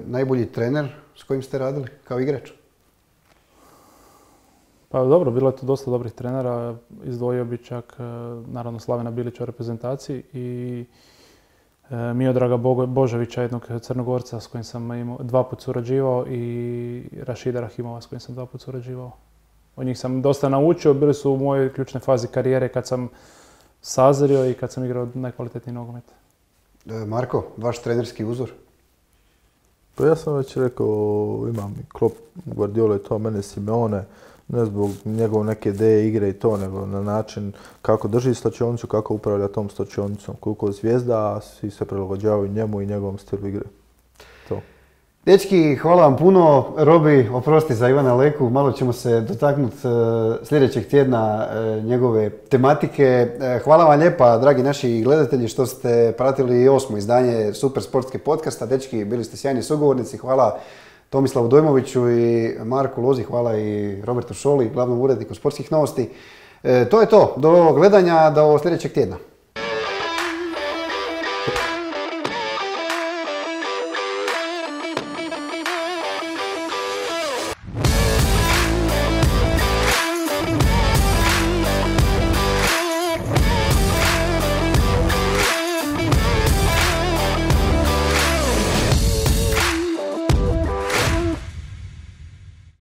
najbolji trener s kojim ste radili kao igrač? Pa dobro, bilo je tu dosta dobrih trenera. Izdvojio bi čak naravno Slavena Bilića u reprezentaciji i Miodraga Božovića, jednog Crnogorca s kojim sam 2 puta surađivao i Rašida Rahimova s kojim sam 2 puta surađivao. Od njih sam dosta naučio, bili su u mojoj ključnoj fazi karijere kad sam sazrio i kad sam igrao najkvalitetniji nogomet. Marko, vaš trenerski uzor? Pa ja sam već rekao, imam i Klopp, Guardiola i to, mene Simeone, ne zbog njegove neke ideje igre i to, nego na način kako drži slačionicu, kako upravlja tom slačionicom, koliko zvijezda, a svi se prilagođavaju njemu i njegovom stilu igre. To. Dečki, hvala vam puno. Robi, oprosti za Ivana Leku, malo ćemo se dotaknuti sljedećeg tjedna njegove tematike. Hvala vam lijepa, dragi naši gledatelji, što ste pratili 8. izdanje Super sportske podcasta. Dečki, bili ste sjajni sugovornici. Hvala Tomislavu Dojmoviću i Marku Lozi, hvala i Robertu Šoli, glavnom uredniku sportskih novosti. To je to, do gledanja, do sljedećeg tjedna.